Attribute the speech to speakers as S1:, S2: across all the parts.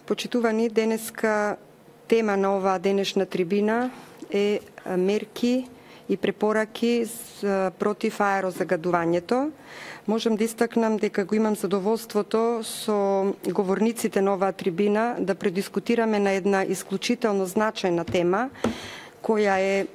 S1: Почитувани, денеска тема на оваа денешна трибина е мерки и препораки против аерозагадувањето. Можам да истакнам дека го имам задоволството со говорниците на оваа трибина да предискутираме на една исклучително значајна тема, која е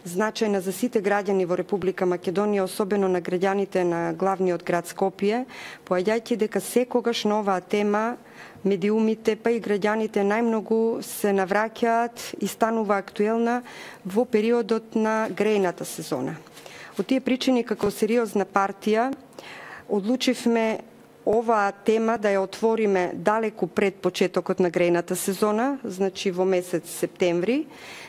S1: значајна за сите граѓани во Република Македонија, особено на граѓаните на главниот град Скопје, поаѓајќи дека секогаш на оваа тема медиумите, па и граѓаните најмногу се навраќаат и станува актуелна во периодот на грејната сезона. Од тие причини, како сериозна партија, одлучивме оваа тема да ја отвориме далеку пред почетокот на грејната сезона, значи во месец септември,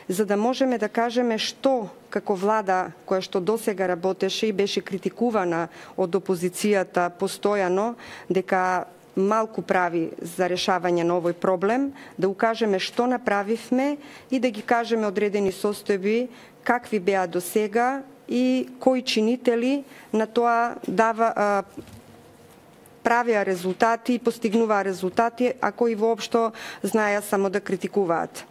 S1: за да можеме да кажеме што како влада која што досега работеше и беше критикувана од опозицијата постојано дека малку прави за решавање на овој проблем, да укажеме што направивме и да ги кажеме одредени состојби какви беа до сега и кои чинители на тоа правеа резултати и постигнуваа резултати, а кои воопшто знаеа само да критикуваат.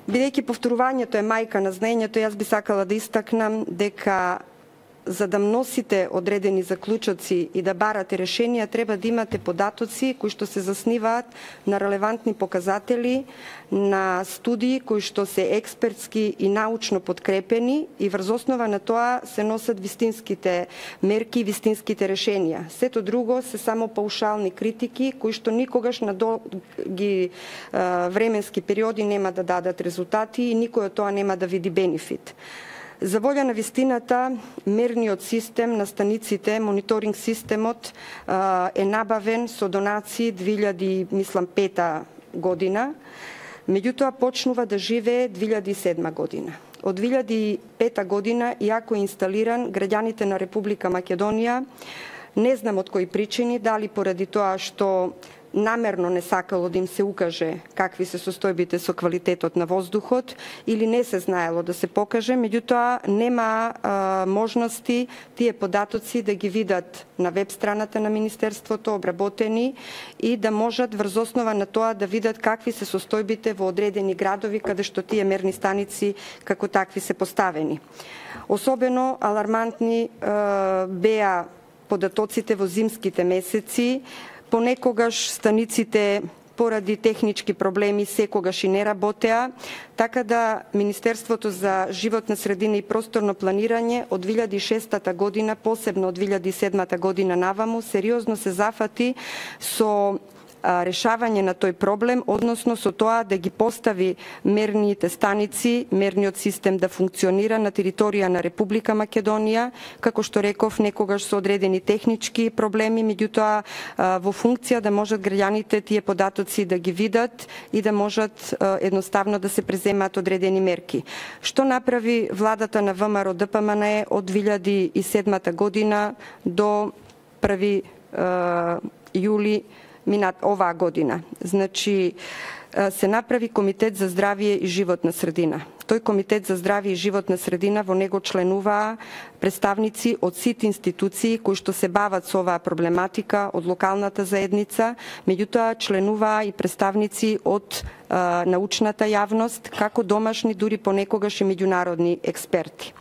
S1: Бидејќи повторувањето е мајка на знаењето, јас би сакала да истакнам дека за да носите одредени заклучоци и да барате решенија, треба да имате податоци кои што се засниваат на релевантни показатели, на студии кои што се експертски и научно подкрепени и врз основа на тоа се носат вистинските мерки и вистинските решенија. Сето друго се само паушални критики кои што никогаш на долги временски периоди нема да дадат резултати и никој од тоа нема да види бенефит. За волја на вистината, мерниот систем на станиците, мониторинг системот е набавен со донации 2005 година, меѓутоа почнува да живее 2007 година. Од 2005 година, иако е инсталиран, граѓаните на Република Македонија, не знам од кои причини, дали поради тоа што намерно не сакало да им се укаже какви се состојбите со квалитетот на воздухот или не се знаело да се покаже, меѓутоа нема можности тие податоци да ги видат на веб страната на Министерството, обработени и да можат врз основа на тоа да видат какви се состојбите во одредени градови каде што тие мерни станици како такви се поставени. Особено алармантни беа податоците во зимските месеци. Понекогаш станиците поради технички проблеми секогаш и не работеа, така да Министерството за животна средина и просторно планирање од 2006 година, посебно од 2007 година наваму, сериозно се зафати со решавање на тој проблем, односно со тоа да ги постави мерните станици, мерниот систем да функционира на територија на Република Македонија, како што реков, некогаш со одредени технички проблеми, меѓутоа во функција да можат граѓаните тие податоци да ги видат и да можат едноставно да се преземаат одредени мерки. Што направи владата на ВМРО ДПМНЕ од 2007 година до 1 јули оваа година? Значи, се направи Комитет за здравје и животна средина. Тој Комитет за здравје и животна средина, во него членуваа представници од сите институции кои што се бават со оваа проблематика, од локалната заедница, меѓутоа членуваа и представници од научната јавност, како домашни, дури понекогаш и меѓународни експерти.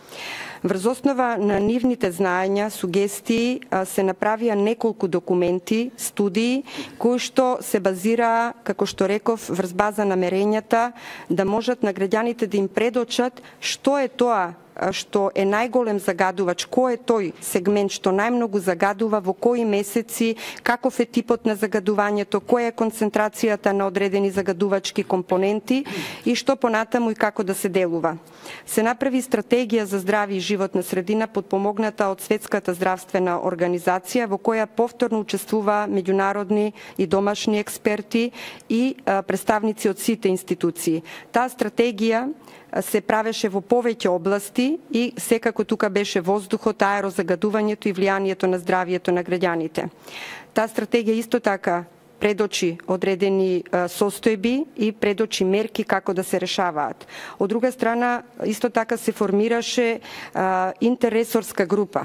S1: Врз основа на нивните знаења, сугестии, се направија неколку документи, студии, кои што се базираа, како што реков, врз база на мерењата, да можат на граѓаните да им предочат што е тоа што е најголем загадувач, кој е тој сегмент што најмногу загадува, во кои месеци, каков е типот на загадувањето, која е концентрацијата на одредени загадувачки компоненти и што понатаму и како да се делува. Се направи стратегија за здравје и животна средина подпомогната од Светската здравствена организација, во која повторно учествува меѓународни и домашни експерти и представници од сите институции. Таа стратегија се правеше во повеќе области и секако тука беше воздухот, аерозагадувањето и влијанието на здравјето на граѓаните. Таа стратегија исто така предочи одредени состојби и предочи мерки како да се решаваат. Од друга страна, исто така се формираше интерресорска група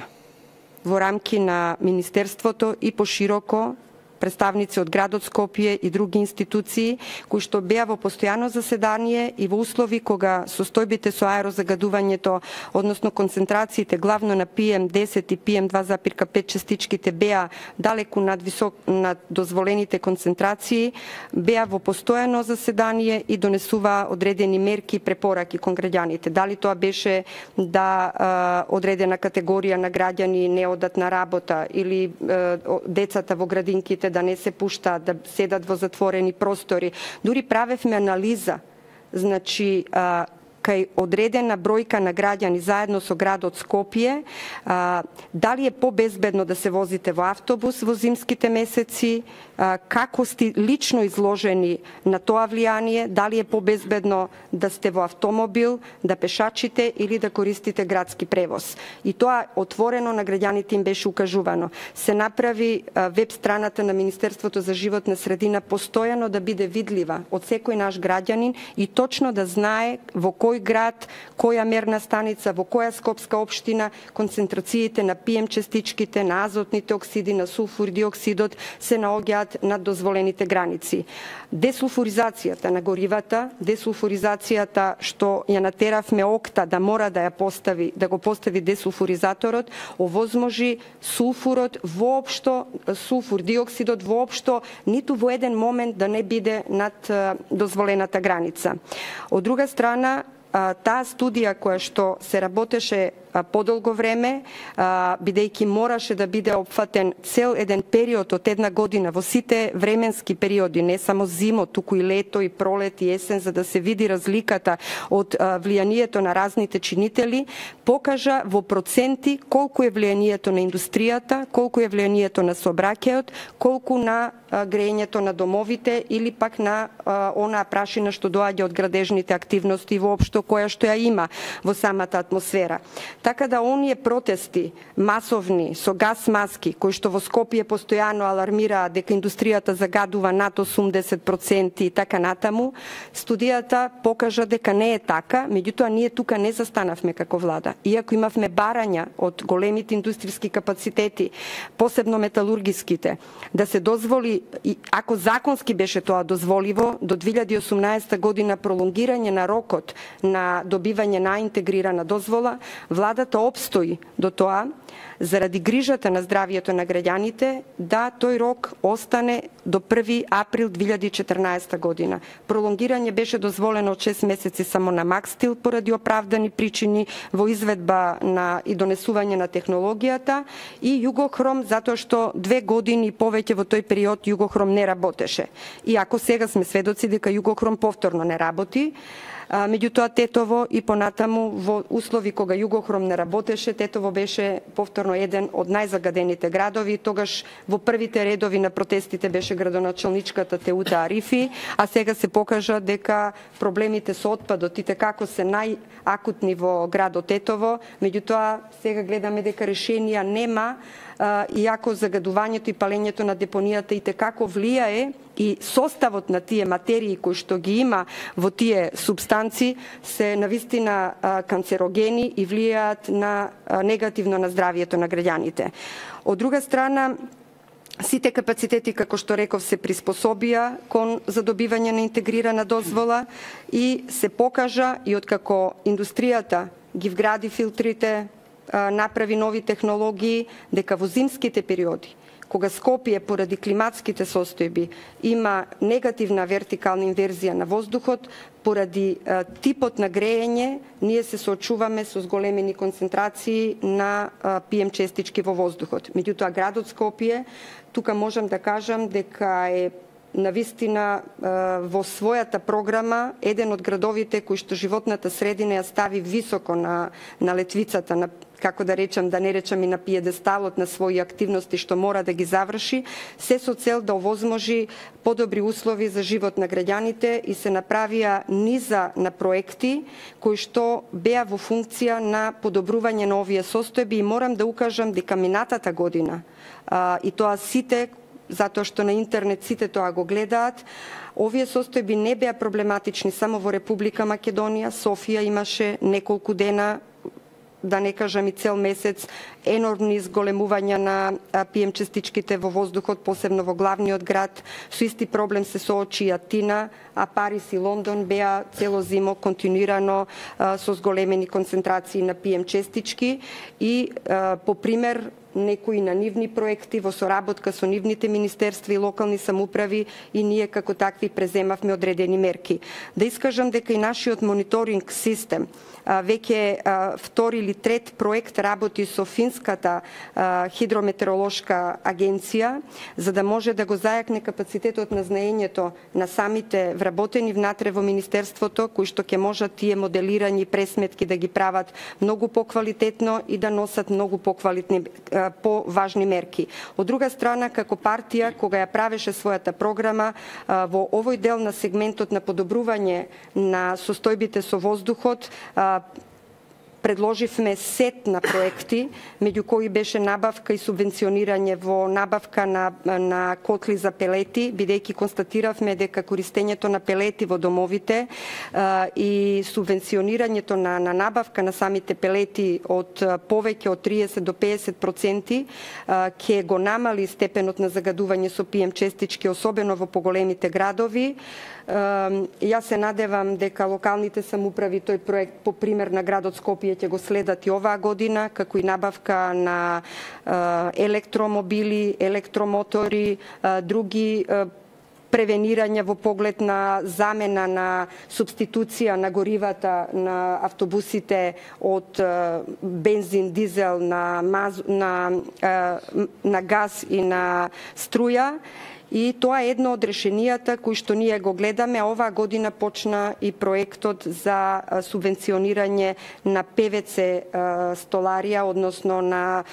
S1: во рамки на Министерството и пошироко представници од градот Скопје и други институции кои што беа во постојано заседание и во услови кога состојбите со аерозагадувањето, односно концентрациите главно на PM10 и PM2,5 частичките беа далеку над дозволените концентрации, беа во постојано заседание и донесуваа одредени мерки и препораки кон граѓаните. Дали тоа беше да одредена категорија на граѓани не одат на работа или децата во градинките да не се пуштаат, да седат во затворени простори. Дури правевме анализа, значи кај одредена бројка на граѓани заедно со градот Скопје, дали е побезбедно да се возите во автобус во зимските месеци, како сте лично изложени на тоа влијание, дали е побезбедно да сте во автомобил, да пешачите или да користите градски превоз. И тоа отворено на граѓаните им беше укажувано. Се направи веб страната на Министерството за животна средина постојано да биде видлива од секој наш граѓанин и точно да знае во кој град, која мерна станица, во која скопска општина концентрациите на PM частичките, на азотните оксиди, на сулфур диоксидот се наоѓаат над дозволените граници. Десулфуризацијата на горивата, десулфуризацијата што ја натеравме ОКТА да мора да го постави десулфуризаторот, овозможи сулфурот воопшто, сулфур диоксидот воопшто ниту во еден момент да не биде над дозволената граница. Од друга страна, таа студија која што се работеше подолго време, бидејќи мораше да биде опфатен цел еден период од една година во сите временски периоди, не само зимо, туку и лето, и пролет, и есен, за да се види разликата од влијанието на разните чинители, покажа во проценти колку е влијанието на индустријата, колку е влијанието на сообраќајот, колку на грејењето на домовите или пак на онаа прашина што доаѓа од градежните активности воопшто која што ја има во самата атмосфера. Така да оние протести масовни со газ маски кои што во Скопје постојано алармираат дека индустријата загадува над 80% и така натаму, студијата покажа дека не е така, меѓутоа ние тука не застанавме како влада. Иако имавме барања од големите индустријски капацитети, посебно металургиските, да се дозволи, ако законски беше тоа дозволиво, до 2018 година пролонгирање на рокот на добивање на интегрирана дозвола, владата опстои до тоа, заради грижата на здравието на граѓаните, да тој рок остане до 1 април 2014 година. Пролонгирање беше дозволено од 6 месеци само на Макстил поради оправдани причини во изведба и донесување на технологијата и Југохром затоа што 2 години и повеќе во тој период Југохром не работеше. Иако сега сме сведоци дека Југохром повторно не работи, меѓутоа Тетово и понатаму во услови кога Југохром не работеше, Тетово беше повторно еден од најзагадените градови. Тогаш во првите редови на протестите беше градоначалничката Теута Арифи, а сега се покажа дека проблемите со отпадот и како се најакутни во градот Тетово, меѓутоа сега гледаме дека решенија нема, иако загадувањето и палењето на депонијата и како влијае и составот на тие материи кои што ги има во тие субстанци се навистина канцерогени и влијаат негативно на здравието на граѓаните. Од друга страна, сите капацитети, како што реков, се приспособија кон задобивање на интегрирана дозвола и се покажа и откако индустријата ги вгради филтрите, направи нови технологии, дека во зимските периоди, кога Скопје поради климатските состојби има негативна вертикална инверзија на воздухот, поради типот на грејење, ние се соочуваме со зголемени концентрации на PM честички во воздухот. Меѓутоа, градот Скопје, тука можам да кажам дека е навистина во својата програма еден од градовите кои што животната средина ја стави високо на летвицата, како да речам, да не речам и на пиедесталот на своји активности што мора да ги заврши, се со цел да овозможи подобри услови за живот на граѓаните и се направија низа на проекти кои што беа во функција на подобрување на овие состојби и морам да укажам дека минатата година и тоа сите, затоа што на интернет сите тоа го гледаат, овие состојби не беа проблематични само во Република Македонија. Софија имаше неколку дена да не кажам и цел месец, енормни зголемувања на PM частичките во воздухот, посебно во главниот град. Со исти проблем се соочи Атина, а Париз и Лондон беа цело зимо континуирано со зголемени концентрации на PM частички и по пример некои на нивни проекти во соработка со нивните министерства и локални самоуправи и ние како такви преземавме одредени мерки. Да искажам дека и нашиот мониторинг систем веќе втори или трет проект работи со финската хидрометеоролошка агенција за да може да го зајакне капацитетот на знаењето на самите вработени внатре во министерството, кои што ќе можат тие моделирањи пресметки да ги прават многу поквалитетно и да носат многу поважни мерки. Од друга страна, како партија, кога ја правеше својата програма, во овој дел на сегментот на подобрување на состојбите со воздухот, предложивме сет на проекти, меѓу кои беше набавка и субвенционирање во набавка на котли за пелети, бидејќи констатиравме дека користењето на пелети во домовите и субвенционирањето на набавка на самите пелети од повеќе од 30 до 50% ќе го намали степенот на загадување со PM частички, особено во поголемите градови. Јас се надевам дека локалните самоуправи тој проект по пример на градот Скопје ќе го следат и оваа година, како и набавка на електромобили, електромотори, други превенирања во поглед на замена на субституција на горивата на автобусите од бензин, дизел на газ и на струја. И тоа е едно од решенијата кои што ние го гледаме. Оваа година почна и проектот за субвенционирање на ПВЦ столарија, односно на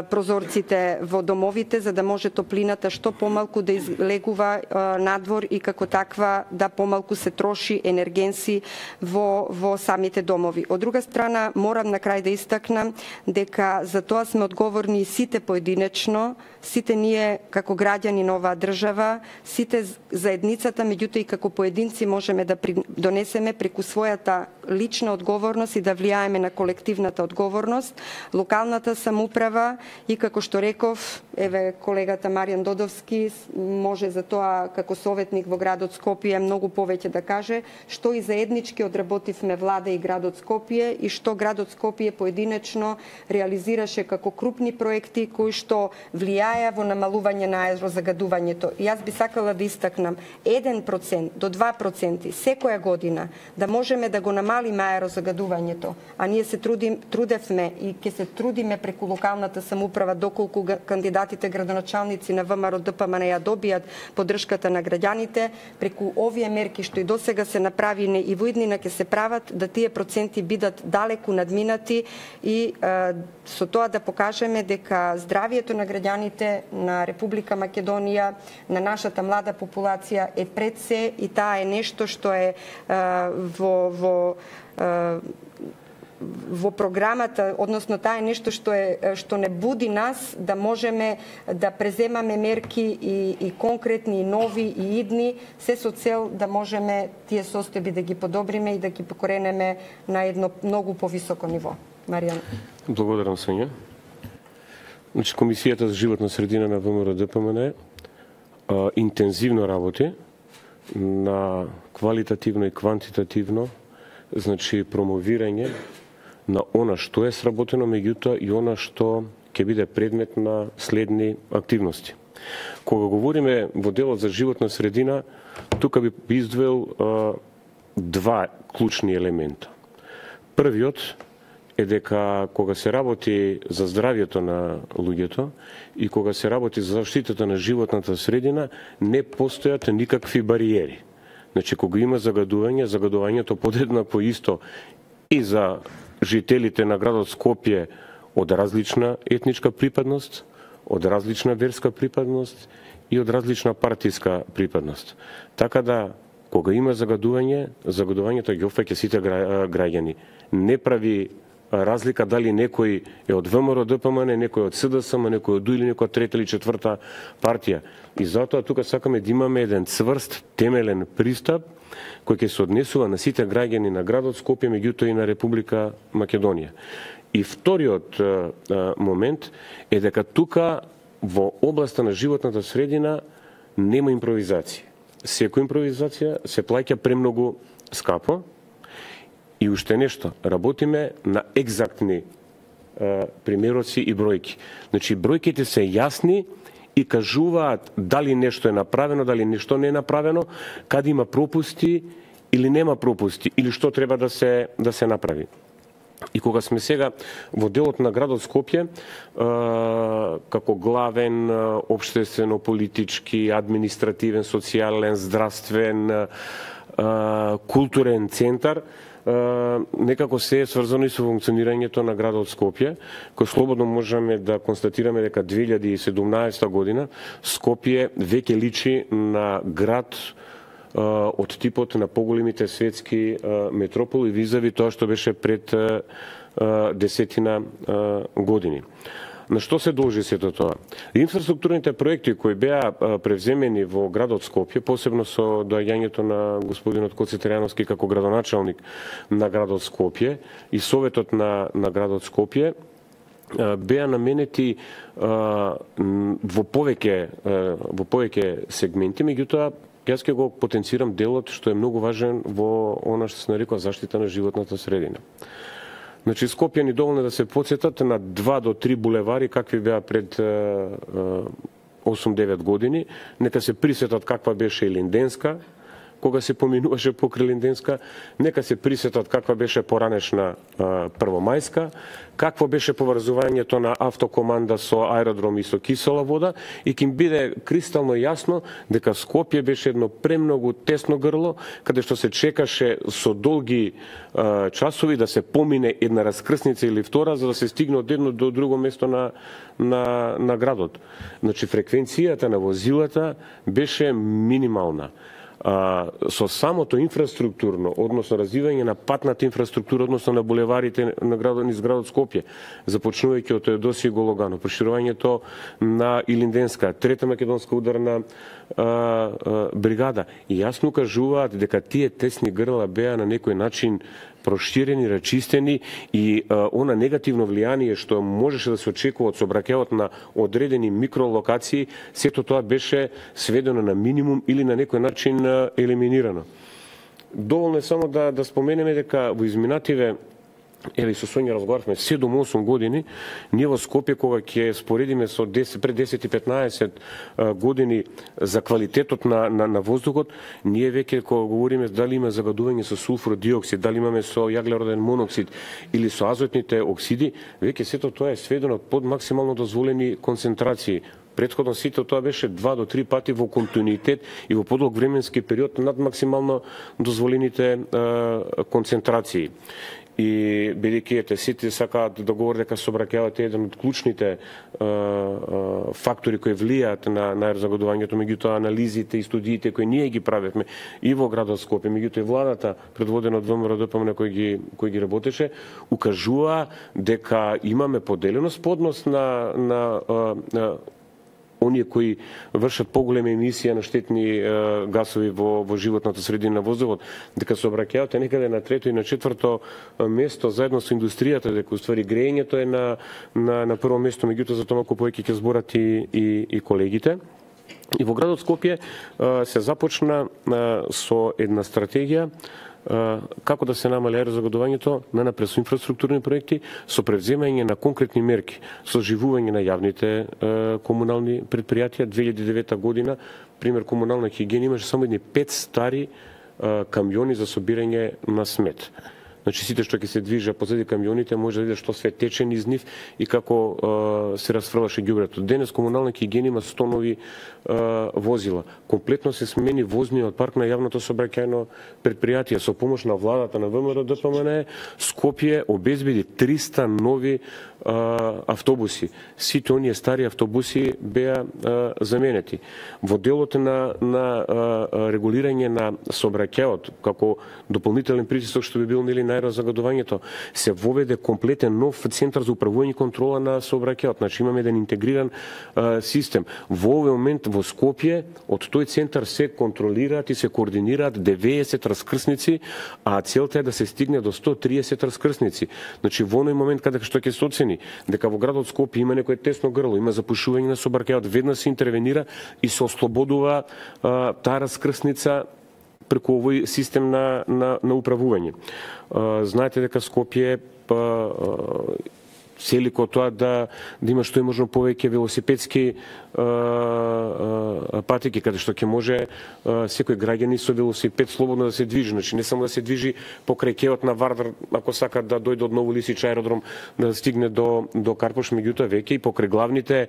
S1: прозорците во домовите, за да може топлината што помалку да излегува надвор и како таква да помалку се троши енергенси во самите домови. Од друга страна, морам на крај да истакнам дека за тоа сме одговорни сите поединечно, сите ние како граѓани на оваа држава, сите заедницата, меѓутоа и како поединци можеме да донесеме преку својата лична одговорност и да влијаеме на колективната одговорност, локалната самоуправа и како што реков, еве колегата Маријан Додовски може за тоа како советник во градот Скопје многу повеќе да каже, што и заеднички одработивме влада и градот Скопје и што градот Скопје поединечно реализираше како крупни проекти кои што влијаја во намалување на аерозагадувањето. И јас би сакала да истакнам 1% до 2% секоја година да можеме да го намалиме аерозагадувањето, а ние се трудевме и ќе се трудиме преку локалната самоуправа доколку кандидатите градоначалници на ВМРО ДПМН ја добијат поддршката на граѓаните, преку овие мерки што и досега се направине и во иднина ќе се прават, да тие проценти бидат далеку надминати и со тоа да покажеме дека здравието на граѓаните на Република Македонија, на нашата млада популација е пред се и таа е нешто што е во програмата, односно таа е нешто што не буди нас да можеме да преземаме мерки и конкретни, и нови, и идни, се со цел да можеме тие состојби да ги подобриме и да ги покоренеме на едно многу повисоко ниво. Маријан.
S2: Благодарам, Сања. Значи, Комисијата за животна средина на ВМРО ДПМН интензивно работи на квалитативно и квантитативно, значи промовирање на она што е сработено, меѓутоа и она што ќе биде предмет на следни активности. Кога говориме во делот за животна средина, тука би издвоил два клучни елемента. Првиот е дека кога се работи за здравието на луѓето и кога се работи за заштитата на животната средина, не постојат никакви бариери. Значи, кога има загадување, загадувањето подеднакво исто и за жителите на градот Скопје од различна етничка припадност, од различна верска припадност и од различна партиска припадност. Така да, кога има загадување, загадувањето ги опфаќа сите граѓани. Не прави разлика дали некој е од ВМРО ДПМН, некој од СДСМ, некој од или некоја трета или четврта партија. И затоа тука сакаме да имаме еден цврст, темелен пристап кој ќе се однесува на сите граѓани на градот Скопје, меѓутоа и на Република Македонија. И вториот момент е дека тука во областа на животната средина нема импровизација. Секоја импровизација се плаќа премногу скапо и уште нешто, работиме на екзактни примероци и бројки. Значи, бројките се јасни и кажуваат дали нешто е направено, дали нешто не е направено, каде има пропусти или нема пропусти, или што треба да се направи. И кога сме сега во делот на градот Скопје, како главен општествено-политички, административен, социјален, здравствен, културен центар, некако се е сврзано и со функционирањето на градот Скопје, кој слободно можеме да констатираме дека 2017 година Скопје веќе личи на град од типот на поголемите светски метрополи визави тоа што беше пред 10 години. На што се должи сето тоа? Инфраструктурните проекти кои беа превземени во градот Скопје, посебно со доаѓањето на господинот Коци Трајановски како градоначалник на градот Скопје и советот на градот Скопје, беа наменети во повеќе сегменти, меѓутоа јас ќе го потенцирам делот што е многу важен во она што се нарекува заштита на животната средина. Значи, Скопјани доволно да се потсетат на 2 до 3 булевари какви беа пред 8-9 години, нека се присетат каква беше и Линденска, кога се поминуваше покрај Линденска, нека се присетат каква беше поранешна Првомајска, какво беше поврзувањето на автокоманда со аеродром и со кисела вода, и ќе им биде кристално јасно дека Скопје беше едно премногу тесно грло, каде што се чекаше со долги часови да се помине една раскрсница или втора, за да се стигне од едно до друго место на градот. Значи, фреквенцијата на возилата беше минимална. Со самото инфраструктурно, односно развивање на патната инфраструктура, односно на булеварите на градот, низ градот Скопје, започнувајќи од Теодосија и Гологано, проширувањето на Илинденска, Трета македонска ударна бригада, и јасно кажуваат дека тие тесни грла беа на некој начин проширени, рачистени, и она негативно влијание што можеше да се очекува од сообраќајот на одредени микролокации, сето тоа беше сведено на минимум или на некој начин елиминирано. Доволно е само да споменеме дека во изминативе, еве со Сонја разговаравме, 7-8 години, ние во Скопје, кога ќе споредиме со пред 10 и 15 години за квалитетот на воздухот, ние веќе кога говориме дали има загадување со сулфуров диоксид, дали имаме со јаглероден моноксид или со азотните оксиди, веќе сето тоа е сведено под максимално дозволени концентрации. Претходно сите тоа беше 2 до 3 пати во континуитет и во подолг временски период над максимално дозволените концентрации. И бидејќи сите сакаат да говорат дека сообраќајот е еден од клучните фактори кои влијаат на аерозагадувањето, меѓутоа анализите и студиите кои ние ги правевме и во градот Скопје, меѓутоа и владата предводена од ВМРО-ДПМН кој ги работеше, укажува дека имаме поделеност по однос на оние кои вршат поголема емисија на штетни гасови во животната средина на воздухот, дека сообраќајот е некаде на 3-то и на 4-то место заедно со индустријата, дека уствари грејењето е на прво место, меѓутоа за тоа малку повеќе ќе зборат и колегите. И во градот Скопје се започна со една стратегија како да се намали аерозагадувањето напред со инфраструктурни проекти, со превземање на конкретни мерки, со оживување на јавните комунални предпријатија. 2009 година, пример, комунална хигиена имаше само едни 5 стари камиони за собирање на смет. Значи, сите што ќе се движат позади камионите може да види што све тече низ нив и како се расфрлаше ѓубрето. Денес комунална хигиена има 100 нови возила. Комплетно се смени возниот парк на јавното сообраќајно предпријатие. Со помош на владата на ВМРО-ДПМН, Скопје обезбеди 300 нови автобуси. Сите оние стари автобуси беа заменети. Во делот на регулирање на сообраќајот, како дополнителен притисок што би бил нели на аерозагадувањето, се воведе комплетен нов центар за управување и контрола на сообраќајот. Значи имаме еден интегриран систем. Во овој момент во Скопје од тој центар се контролираат и се координираат 90 раскрсници, а целта е да се стигне до 130 раскрсници. Значи во оној момент каде што ќе се оцени дека во градот Скопје има некое тесно грло, има запушување на сообраќајот, веднаш се интервенира и се ослободува таа раскрсница преку овој систем на управување. Знаете дека Скопје цели ко тоа да има што е можно повеќе велосипедски патеки, каде што ќе може секој граѓанин со велосипед слободно да се движи. Значи не само да се движи покрај кеот на Вардар, ако сака да дојде од Новолисич аеродром да стигне до Карпош, меѓутоа веќе и покрај главните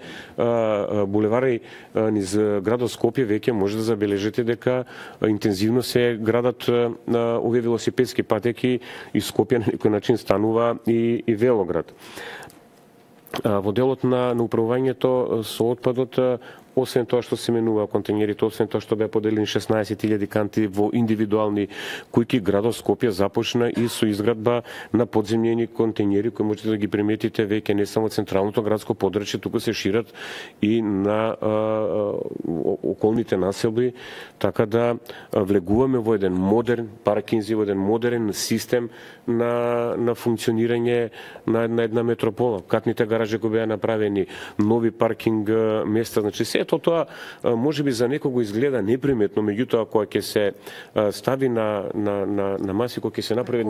S2: булевари низ градот Скопје веќе може да забележите дека интензивно се градат овие велосипедски патеки и Скопје на некој начин станува и велоград. Во делот на управувањето со отпадот, освен тоа што се менува контејнерите, освен тоа што беа поделени 16.000 канти во индивидуални куќи, градот Скопје започна и со изградба на подземни контејнери кои можете да ги приметите веќе не само централното градско подрачје, туку се шират и на околните населби, така да влегуваме во еден модерн паркинзи, во еден модерен систем на функционирање на една метропола. Катните гаражи кои беа направени, нови паркинг места, значи сето тоа можеби за некого изгледа неприметно, меѓутоа кога ќе се стави на маси, кога ќе се направи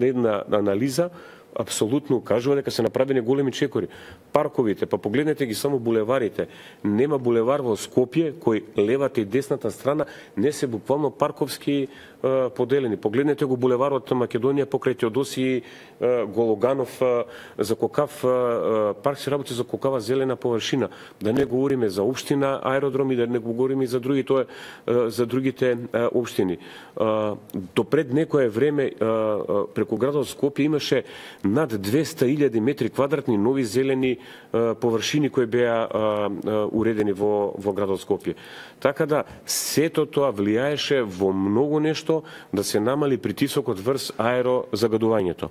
S2: една анализа, апсолутно кажува дека се направени големи чекори. Парковите, па погледнете ги само булеварите. Нема булевар во Скопје кој левата и десната страна не се буквално парковски поделени. Погледнете го булеварот Македонија покрај Теодосиј Гологанов, за колкав парк се работи, за колкава зелена површина. Да не говориме за општина аеродром и да не говориме и за другите општини. Допред некое време преку градот Скопје имаше над 200.000 метри квадратни нови зелени површини кои беа уредени во градот Скопје. Така да сето тоа влијаеше во многу нешто да се намали притисокот врз аерозагадувањето.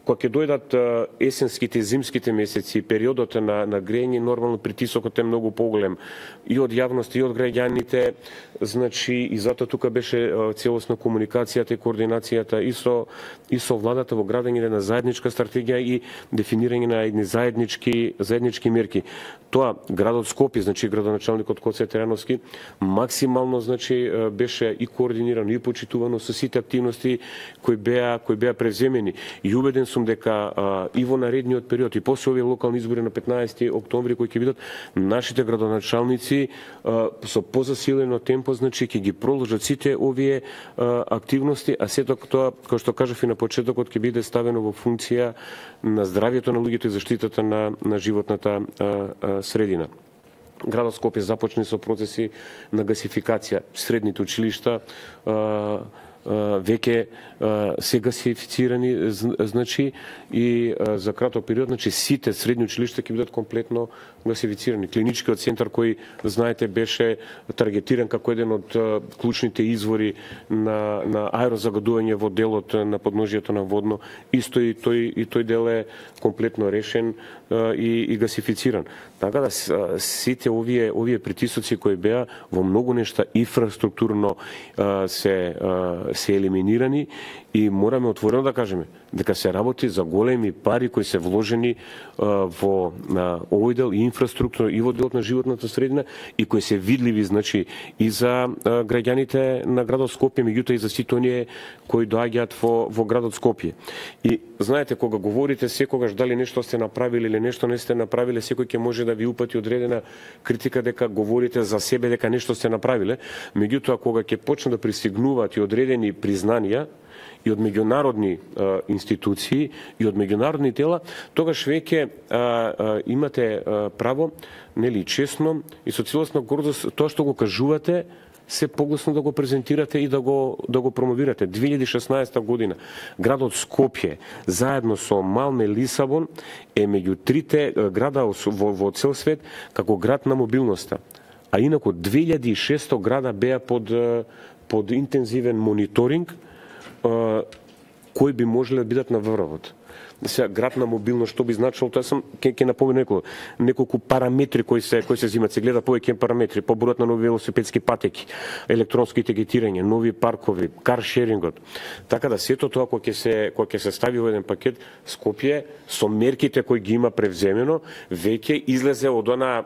S2: Кога ќе дојдат есенските и зимските месеци, периодот на грејење, нормално притисокот е многу поголем и од јавност и од граѓаните, значи и затоа тука беше целосна комуникацијата и координацијата и со владата во градење на заедничка стратегија и дефинирање на едни заеднички мерки. Тоа градот Скопје, значи градоначалникот Коце Терановски, максимално значи беше и координирано и почитувано со сите активности кои беа превземени. И убеден сум дека и во наредниот период и после овие локални избори на 15 октомври кои ќе бидат, нашите градоначалници со позасилено темпо значи ќе ги продолжат сите овие активности, а сето тоа, како што кажав и на почетокот, ќе биде ставено во функција на здравјето на луѓето и заштитата на животната средина. Градот Скопје започне со процеси на гасификација. Средните училишта веќе се гасифицирани, значи и за краток период, значи сите средни училишта ќе бидат комплетно гасифицирани. Клиничкиот центар кој знаете беше таргетиран како еден од клучните извори на аерозагадување во делот на подножјето на Водно, исто и тој дел е комплетно решен и гасифициран. Така да сите овие притисоци кои беа во многу нешта инфраструктурно се елиминирани и мораме отворено да кажеме дека се работи за големи пари кои се вложени во овој дел и инфраструктура и во делот на животната средина и кои се видливи значи и за граѓаните на градот Скопје, меѓутоа и за сите оние кои доаѓаат во градот Скопје. И знаете, кога говорите секогаш дали нешто сте направиле или нешто не сте направиле, секој ќе може да ви упати одредена критика дека говорите за себе дека нешто сте направиле, меѓутоа кога ќе почне да пристигнуваат и одредени признанија и од меѓународни институции и од меѓународни тела, тогаш веќе имате право, нели, честно и со целосна гордост тоа што го кажувате се погласно да го презентирате и да го промовирате. 2016 година градот Скопје заедно со Малме, Лисабон е меѓу трите града во цел свет како град на мобилноста. А инаку 2600 града беа под интензивен мониторинг кои би можеле да бидат на врвот. Сега град на мобилност што би значило, тоа сам ќе напомнам неколку параметри кои се земат, се гледа повеќе параметри, побројот на нови велосипедски патеки, електронски етикетирање, нови паркови, каршерингот. Така да сето тоа кога ќе се стави во еден пакет, Скопје со мерките кои ги има превземено, веќе излезе од она,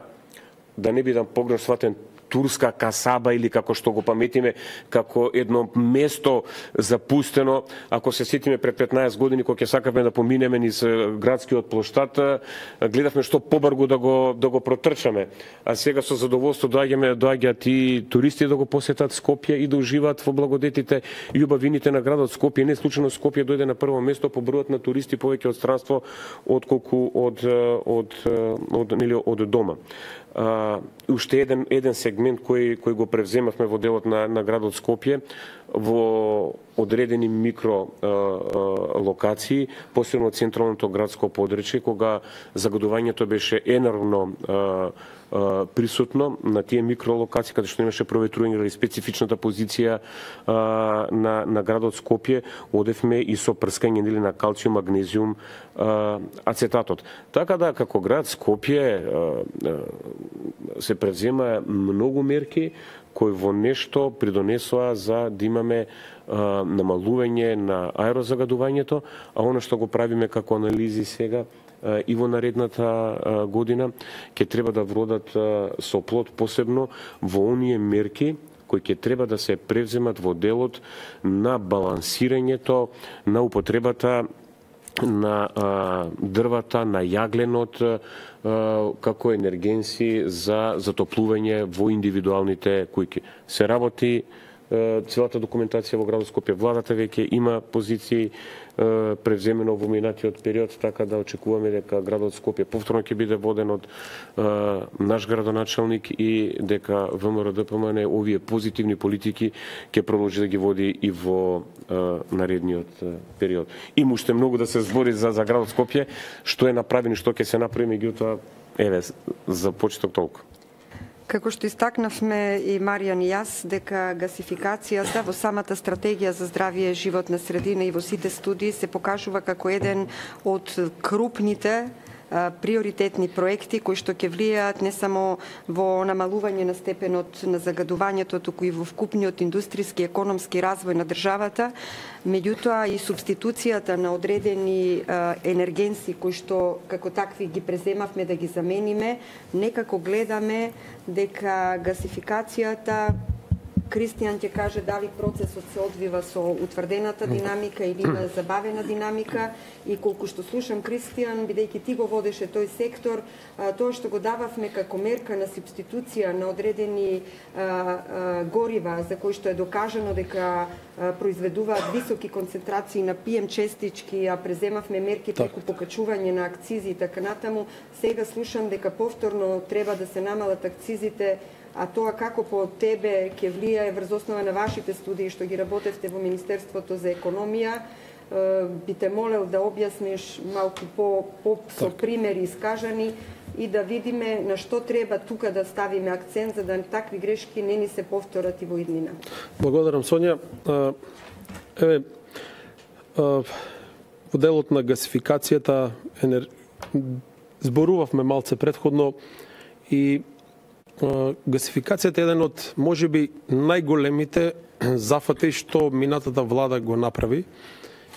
S2: да не бидам погрешно сватен, турска касаба или како што го паметиме, како едно место запустено. Ако се сетиме пред 15 години кога ќе сакавме да поминеме низ градскиот плоштад, гледавме што побрзо да го протрчаме. А сега со задоволство доаѓаат и туристи да го посетат Скопје и да уживаат во благодетите и убавините на градот Скопје. Не случайно Скопје дојде на прво место по бројот на туристи повеќе од странство отколку од дома. Уште еден сегмент кој го превземавме во делот на градот Скопје во одредени микро локации, посебно централното градско подречје, кога загадувањето беше енормно присутно на тие микролокации, каде што имаше проветрување или специфичната позиција на градот Скопје, одевме и со прскање на калциум, магнезиум, ацетатот. Така да, како град Скопје се превзема многу мерки кои во нешто придонесоа за да имаме намалување на аерозагадувањето, а она што го правиме како анализи сега и во наредната година ќе треба да вродат со плод, посебно во оние мерки кои ќе треба да се превземат во делот на балансирањето на употребата на дрвата, на јагленот како енергенси за затоплување во индивидуалните кујки. Се работи целата документација во градот Скопје. Владата веќе има позиции превземено во минатиот период, така да очекуваме дека градот Скопје повторно ќе биде воден од наш градоначалник и дека ВМРО-ДПМН овие позитивни политики ќе продолжи да ги води и во наредниот период. Има уште многу да се збори за градот Скопје, што е направено и што ќе се направи, меѓутоа еве за почеток толку.
S1: Како што истакнавме и Маријан и јас, дека гасификацијата во самата стратегија за здравје животна средина и во сите студии се покажува како еден од крупните приоритетни проекти кои што ќе влијаат не само во намалување на степенот на загадувањето, туку и во вкупниот индустријски и економски развој на државата, меѓутоа и субституцијата на одредени енергенси кои што како такви ги преземавме да ги замениме, некако гледаме дека гасификацијата, Кристијан ќе каже дали процесот се одвива со утврдената динамика или има забавена динамика, и колку што слушам Кристијан, бидејќи ти го водеше тој сектор, тоа што го дававме како мерка на субституција на одредени горива за кои што е докажано дека произведуваат високи концентрации на PM честички, а преземавме мерки преку покачување на акцизи и така натаму, сега слушам дека повторно треба да се намалат акцизите, а тоа како по тебе ќе влијае врз основа на вашите студии што ги работевте во Министерството за економија, би те молел да објасниш малку со примери искажани и да видиме на што треба тука да ставиме акцент за да такви грешки не ни се повторат и во иднина.
S3: Благодарам, Сонја. Еве, во делот на гасификацијата зборувавме малце претходно и гасификацијата е еден од можеби најголемите зафати што минатата влада го направи.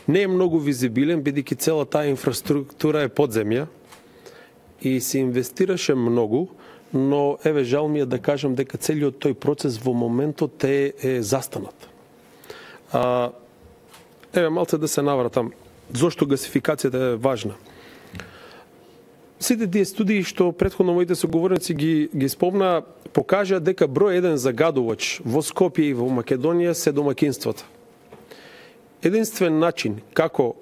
S3: Не е многу визибилен, бидејќи цела таа инфраструктура е подземја и се инвестираше многу, но еве жал ми е да кажам дека целиот тој процес во моментот е застанат. Еве малце да се навратам зошто гасификацијата е важна. Сите тие студии што претходно моите соговорници ги спомна, покажа дека број еден загадувач во Скопје и во Македонија се домакинствата. Единствен начин како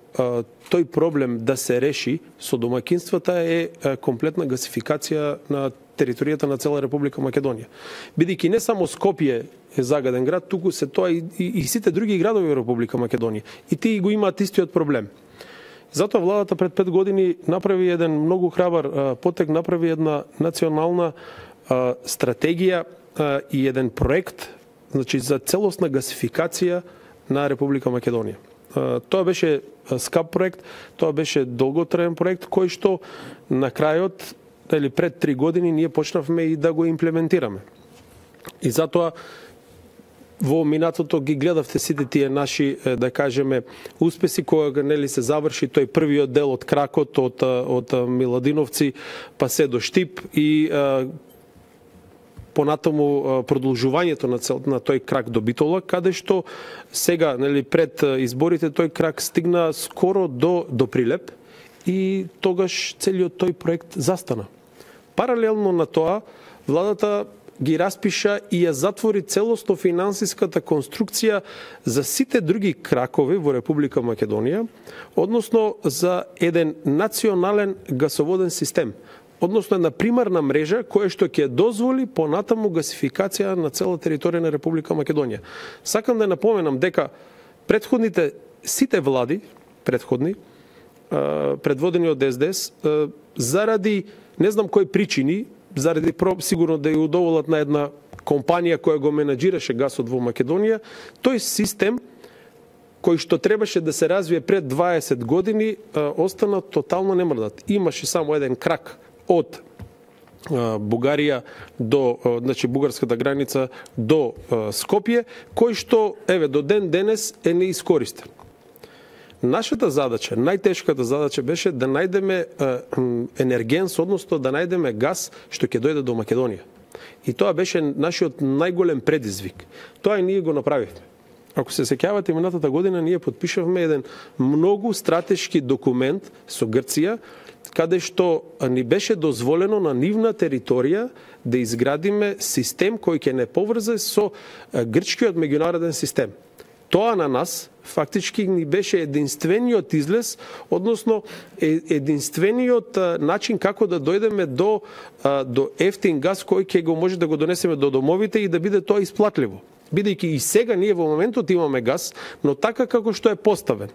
S3: тој проблем да се реши со домакинствата е комплетна гасификација на територијата на цела Република Македонија. Бидејќи не само Скопје е загаден град, туку се тоа и сите други градови во Република Македонија. И тие го имаат истиот проблем. Затоа владата пред 5 години направи еден многу храбар потек, направи една национална стратегија и еден проект, значи за целосна гасификација на Република Македонија. Тоа беше скап проект, тоа беше долготраен проект кој што на крајот или пред 3 години ние почнавме и да го имплементираме. И затоа во минатото ги гледавте сите тие наши, да кажеме, успеси кога нели се заврши тој првиот дел од кракот од Миладиновци па се до Штип и понатаму продолжувањето на тој крак до Битола, каде што сега, нели, пред изборите тој крак стигна скоро до Прилеп и тогаш целиот тој проект застана. Паралелно на тоа, владата ги распиша и ја затвори целосно финансиската конструкција за сите други кракови во Република Македонија, односно за еден национален гасоводен систем, односно една примарна мрежа која што ќе дозволи понатаму гасификација на цела територија на Република Македонија. Сакам да напоменам дека предходните сите влади, предводени од СДС, заради не знам кои причини, заради сигурно да ја удоволат на една компанија која го менаџираше гасот во Македонија, тој систем кој што требаше да се развие пред 20 години остана тотално немрдат. Имаше само еден крак од Бугарија до, значи бугарската граница до Скопје, кој што до ден денес е неискористен. Нашата задача, најтешката задача беше да најдеме енергенс, односно да најдеме газ што ќе дојде до Македонија. И тоа беше нашиот најголем предизвик. Тоа и ние го направивме. Ако се сеќавате, минатата година ние подпишавме еден многу стратешки документ со Грција, каде што ни беше дозволено на нивна територија да изградиме систем кој ќе не поврзе со грчкиот меѓународен систем. Тоа на нас фактички ни беше единствениот излез, односно единствениот начин како да дојдеме до ефтин газ кој ќе го може да го донесеме до домовите и да биде тоа исплатливо. Бидејќи и сега ние во моментот имаме газ, но така како што е поставен.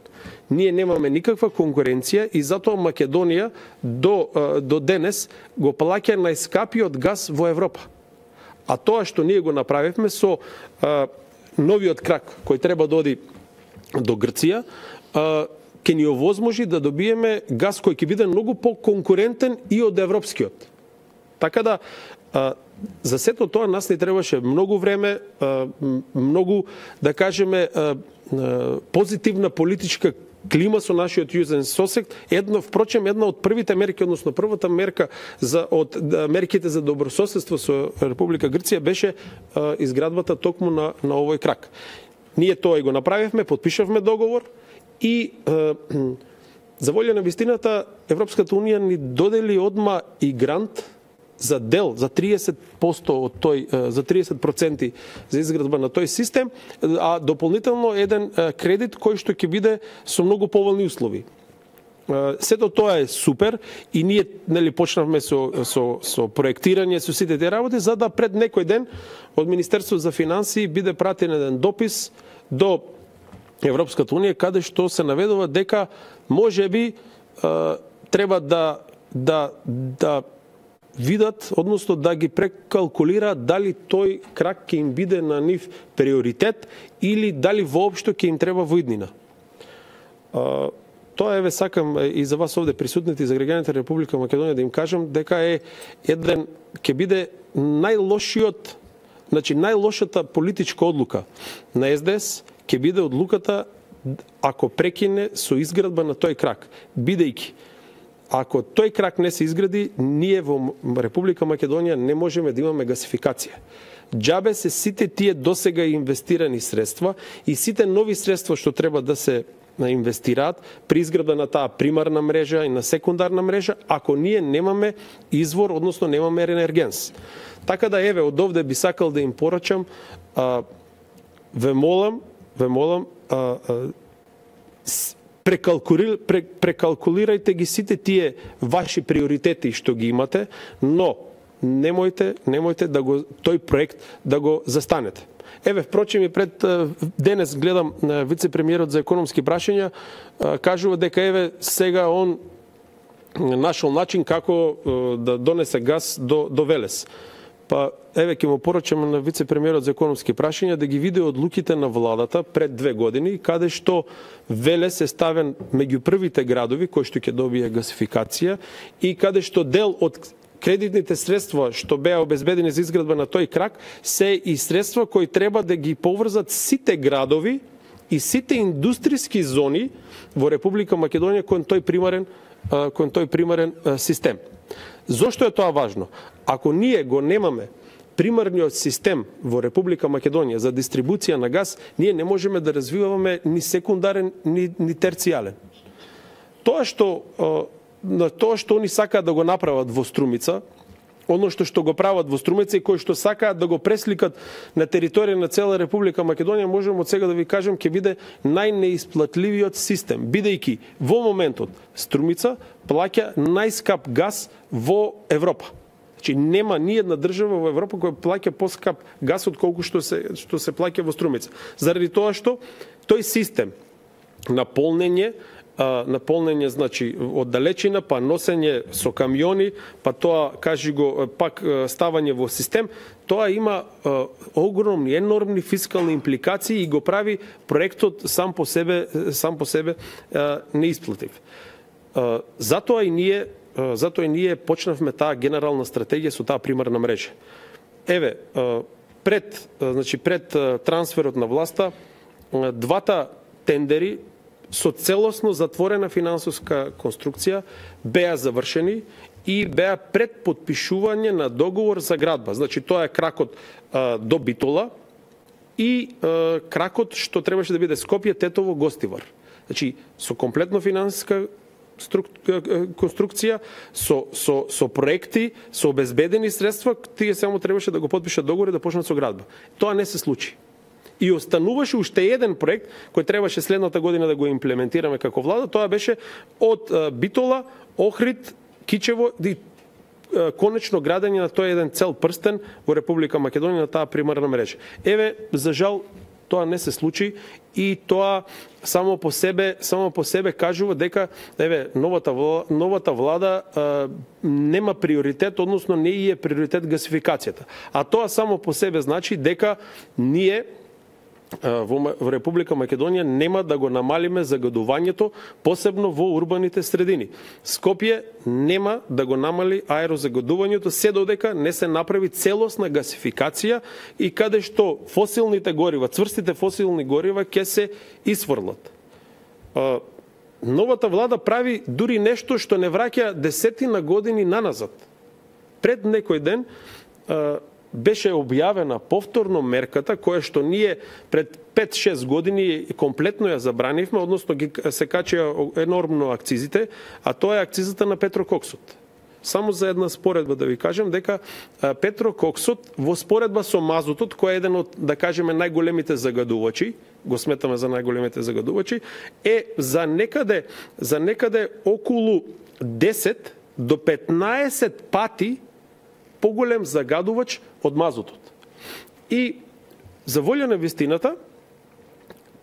S3: Ние немаме никаква конкуренција и затоа Македонија до денес го плаќа најскапиот газ во Европа. А тоа што ние го направивме со новиот крак кој треба да оди до Грција, ќе ни овозможи да добиеме газ кој ќе биде многу по-конкурентен и од европскиот. Така да за сето тоа нас не требаше многу време, многу, да кажеме, позитивна политичка клима со нашиот јузен сосед. Впрочем, една од првите мерки, односно првата мерка од мерките за добрососедство со Република Грција беше изградбата токму на овој крак. Ние тоа и го направивме, подпишавме договор и за волја на вистината Европската унија ни додели одма и грант за дел, за 30% од тој, за 30% за изградба на тој систем, а дополнително еден кредит кој што ќе биде со многу поволни услови. Сето тоа е супер и ние почнавме со проектирање, со сите тие работи, за да пред некој ден од Министерството за финансии биде пратен еден допис до Европската унија каде што се наведува дека можеби треба да видат, односно да ги прекалкулираат дали тој крак ќе им биде на нив приоритет или дали воопшто ќе им треба во иднина. Тоа сакам и за вас овде присутните и за граѓаните на Република Македонија да им кажам дека ќе биде најлошиот, значи најлошата политичка одлука на СДС ќе биде одлуката ако прекине со изградба на тој крак, бидејќи ако тој крак не се изгради, ние во Република Македонија не можеме да имаме гасификација. Џабе се сите тие досега инвестирани средства и сите нови средства што треба да се инвестираат при изградба на таа примарна мрежа и на секундарна мрежа, ако ние немаме извор, односно немаме енергенс. Така да од овде би сакал да им порачам, ве молам, прекалкулирајте ги сите тие ваши приоритети што ги имате, но немојте да го тој проект да го застанете. Еве, впрочем, и пред денес гледам вице-премиерот за економски прашања кажува дека еве сега он нашол начин како да донесе газ до Велес. Па еве ќе му порачам на вице-премиерот за економски прашања да ги види одлуките на владата пред 2 години, каде што Велес е ставен меѓу првите градови кои што ќе добие гасификација и каде што дел од кредитните средства што беа обезбедени за изградба на тој крак се и средства кои треба да ги поврзат сите градови и сите индустријски зони во Република Македонија кон тој примарен систем. Зошто е тоа важно? Ако ние го немаме примарниот систем во Република Македонија за дистрибуција на газ, ние не можеме да развиваме ни секундарен, ни терцијален. Тоа што они сакаат да го направат во Струмица, оно што го прават во Струмица и кои што сакаат да го пресликат на територија на цела Република Македонија, можеме од сега да ви кажем ќе биде најнеисплатливиот систем, бидејќи во моментот Струмица плаќа најскап газ во Европа. Значи нема ни една држава во Европа која плаќа поскап газ од колку што се плаќа во Струмица. Заради тоа што тој систем на полнење, значи од далечина, па носење со камиони, па тоа кажи го пак ставање во систем, тоа има огромни, енормни фискални импликации и го прави проектот сам по себе неисплатив. Затоа и ние почнавме таа генерална стратегија со таа примарна мрежа. Еве, пред трансферот на власта, двата тендери со целосно затворена финансовска конструкција беа завршени и беа пред потпишување на договор за градба. Значи тоа е кракот до Битола и кракот што требаше да биде Скопје, Тетово, Гостивар. Значи со комплетно финансиска конструкција, со проекти, со обезбедени средства, тие само требаше да го потпишат договор и да почнат со градба. Тоа не се случи. И остануваше уште еден проект кој требаше следната година да го имплементираме како влада, тоа беше од Битола, Охрид, Кичево и конечно градење на тој еден цел прстен во Република Македонија на таа примарна мрежа. Еве, за жал, тоа не се случи и тоа само по себе кажува дека еве новата влада нема приоритет, односно не е приоритет гасификацијата. А тоа само по себе значи дека ние во Република Македонија нема да го намалиме загадувањето, посебно во урбаните средини. Скопје нема да го намали аерозагадувањето се додека не се направи целосна гасификација и каде што фосилните горива, цврстите фосилни горива ќе се исфрлат. Новата влада прави дури нешто што не враќа десетина години наназад. Пред некој ден беше објавена повторно мерката која што ние пред 5-6 години комплетно ја забранивме, односно се качија енормно акцизите, а тоа е акцизата на петрококсот. Само за една споредба да ви кажем дека петрококсот во споредба со мазутот, кој е еден од, да кажеме, најголемите загадувачи, го сметаме за најголемите загадувачи, е за некаде околу 10 до 15 пати поголем загадувач од мазутот. И за волја на вистината,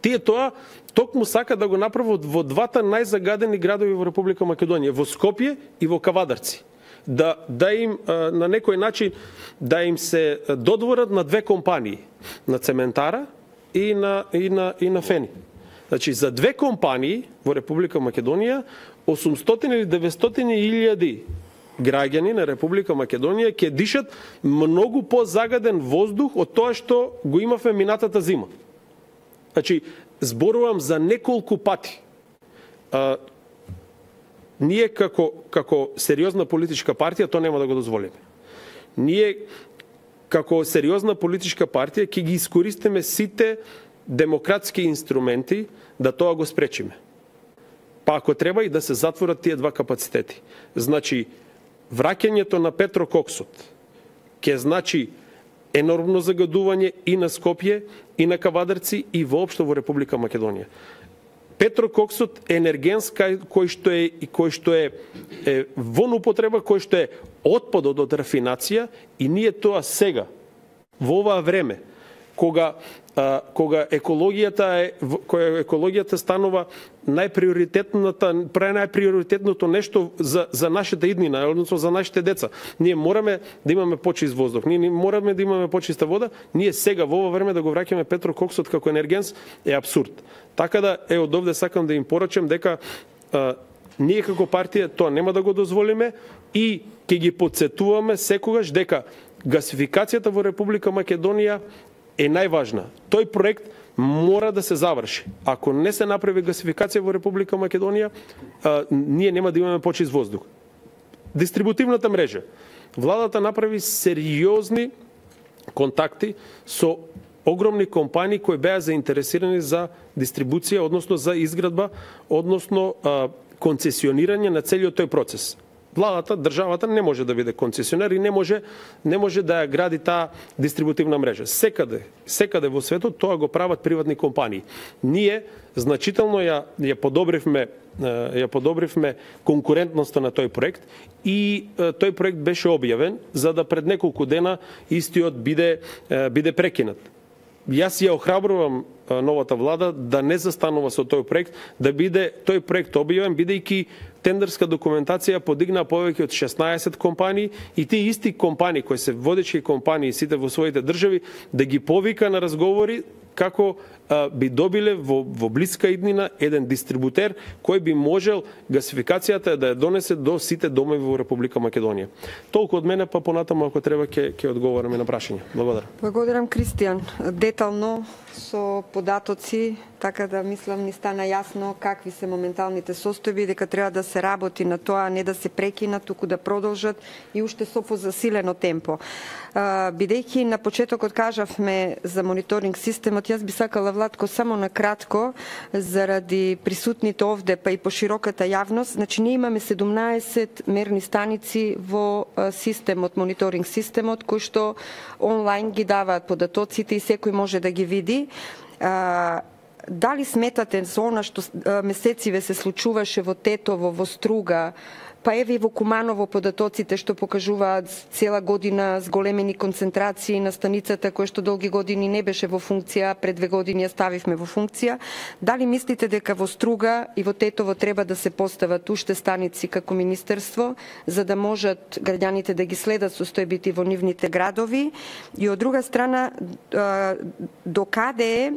S3: тие тоа токму сака да го направат во двата најзагадени градови во Република Македонија, во Скопје и во Кавадарци. Да им на некој начин да им се додворат на две компании, на Цементара и на Фени. Значи за две компании во Република Македонија 800 или 900 илјади граѓани на Република Македонија ќе дишат многу позагаден воздух од тоа што го имавме минатата зима. Значи, зборувам за неколку пати. Ние како сериозна политичка партија тоа нема да го дозволиме. Ние како сериозна политичка партија ќе ги искористиме сите демократски инструменти да тоа го спречиме. Па ако треба и да се затворат тие два капацитети. Значи, враќањето на петрококсот ќе значи енормно загадување и на Скопје, и на Кавадарци, и воопшто во Република Македонија. петрококсот е енергенс кој што е во употреба, кој што е отпадот од рафинација, и ние тоа сега во оваа време кога екологијата станува најприоритетното нешто за нашата иднина, односно за нашите деца. Ние мораме да имаме почист воздух, ние мораме да имаме почиста вода, ние сега во ова време да го враќаме петрококсот како енергенс е апсурд. Така да од овде сакам да им порачам дека ние како партија тоа нема да го дозволиме и ќе ги потсетуваме секогаш дека гасификацијата во Република Македонија е најважна. Тој проект мора да се заврши. Ако не се направи гасификација во Република Македонија, ние нема да имаме почист воздух. Дистрибутивната мрежа. Владата направи сериозни контакти со огромни компании кои беа заинтересирани за дистрибуција, односно за изградба, односно концесионирање на целиот тој процес. Владата, државата не може да биде концесионер и не може да ја гради таа дистрибутивна мрежа. Секаде во светот тоа го прават приватни компании. Ние значително ја подобривме конкурентноста на тој проект и тој проект беше објавен за да пред неколку дена истиот биде прекинат. Јас ја охрабрувам новата влада да не застанува со тој проект, да биде тој проект објавен, бидејќи тендерска документација подигна повеќе од 16 компании и тие исти компании кои се водечки компании сите во своите држави да ги повика на разговори како би добиле во блиска иднина еден дистрибутер кој би можел гасификацијата да ја донесе до сите домови во Република Македонија. Толку од мене, па понатаму ако треба ќе одговорам и на прашања. Благодарам.
S1: Благодарам, Кристијан. Детално со податоци, така да мислам ни стана јасно какви се моменталните состојби, дека треба да се работи на тоа, не да се прекинат, туку да продолжат и уште со позасилено темпо. Бидејќи на почетокот кажавме за мониторинг системот, јас би сакала, Владко, само на кратко, заради присутните овде, па и по широката јавност, значи ние имаме 17 мерни станици во системот, мониторинг системот, кои што онлайн ги даваат податоците и секој може да ги види. Дали сметате за она што месециве се случуваше во Тетово, во Струга, па еве и во Куманово податоците што покажуваат цела година зголемени концентрации на станицата која што долги години не беше во функција, пред 2 години ја ставивме во функција. Дали мислите дека во Струга и во Тетово треба да се постават уште станици како министерство, за да можат граѓаните да ги следат состојбите во нивните градови? И од друга страна, докаде е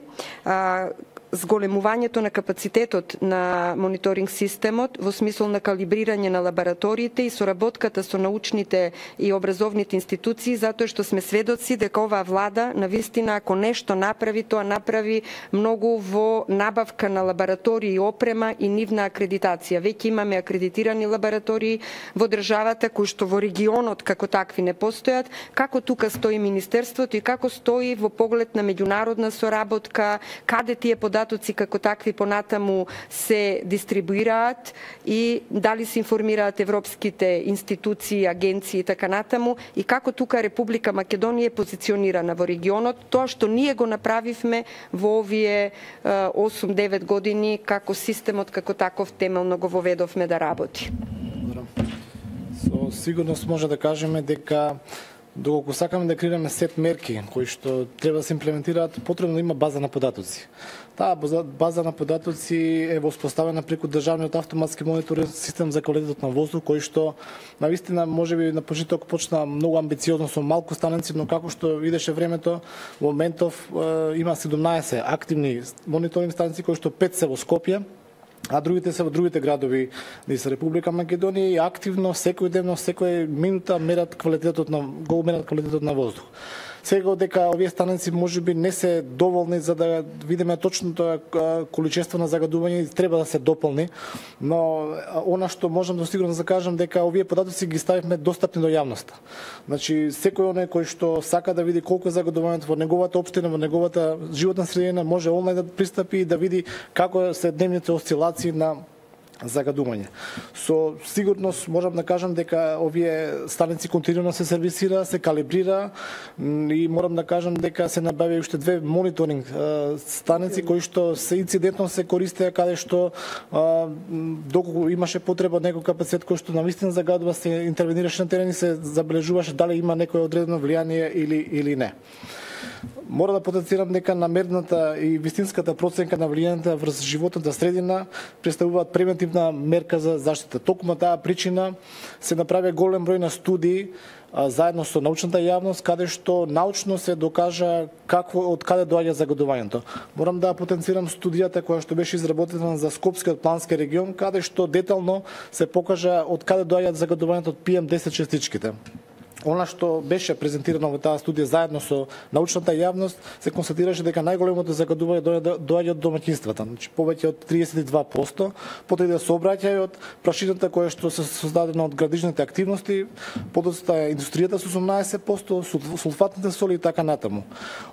S1: зголемувањето на капацитетот на мониторинг системот во смисол на калибрирање на лабораториите и соработката со научните и образовните институции, затоа што сме сведоци дека оваа влада навистина ако нешто направи, тоа направи многу во набавка на лаборатории и опрема и нивна акредитација. Веќе имаме акредитирани лаборатории во државата кои што во регионот како такви не постојат. Како тука стои министерството и како стои во поглед на меѓународна соработка, каде тие податоци како такви понатаму се дистрибуираат и дали се информираат европските институции, агенции и така натаму, и како тука Република Македонија е позиционирана во регионот, тоа што ние го направивме во овие 8-9 години како системот како таков темелно го воведовме да работи.
S4: Со сигурност може да кажеме дека доколку сакаме да креираме сет мерки кои што треба да се имплементираат, потребно да има база на податоци. Таа база на податоци е воспоставена преку државниот автоматски мониторинг систем за квалитетот на воздух, кој што навистина можеби на почеток почна многу амбициозно со малку станици, но како што идеше времето, во моментов има 17 активни мониторинг станици кои што 5 се во Скопје, а другите се во другите градови низ Република Македонија и активно секојдневно, секоја минута мерат квалитетот на воздух. Сега дека овие станици можеби не се доволни за да видиме точното количество на загадување, треба да се дополни, но она што можам да сигурно да кажам дека овие податоци ги ставивме достапни до јавноста. Значи секој оној кој што сака да види колку е загадувањето во неговата општина, во неговата животна средина, може онлайн да пристапи и да види како се дневните осцилации на загадување. Со сигурност можам да кажам дека овие станици континуирано се сервисира, се калибрира и морам да кажам дека се набави уште 2 мониторинг станици кои што се инцидентно се користеа каде што доколку имаше потреба од некој капацитет кој што навистина загадува, се интервенираше на терен и се забележуваше дали има некое одредено влијание или не. Мора да потенцирам дека намерната и вистинската проценка на влијанието врз животната средина представуваат превентивна мерка за заштита. Токму таа причина се направи голем број на студии заедно со научната јавност, каде што научно се докажа од каде доаѓа загадувањето. Морам да потенцирам студијата која што беше изработена за Скопскиот плански регион, каде што детално се покажа од каде доаѓаат загадувањето од PM10 частичките. Она што беше презентирано во таа студија заедно со научната јавност, се констатираше дека најголемото загадување доаѓа од домаќинствата, значи повеќе од 32%, потоа иде сообраќајот, прашината која што се создадена од градижните активности, подоцна индустријата со 18%, сулфатните соли и така натаму.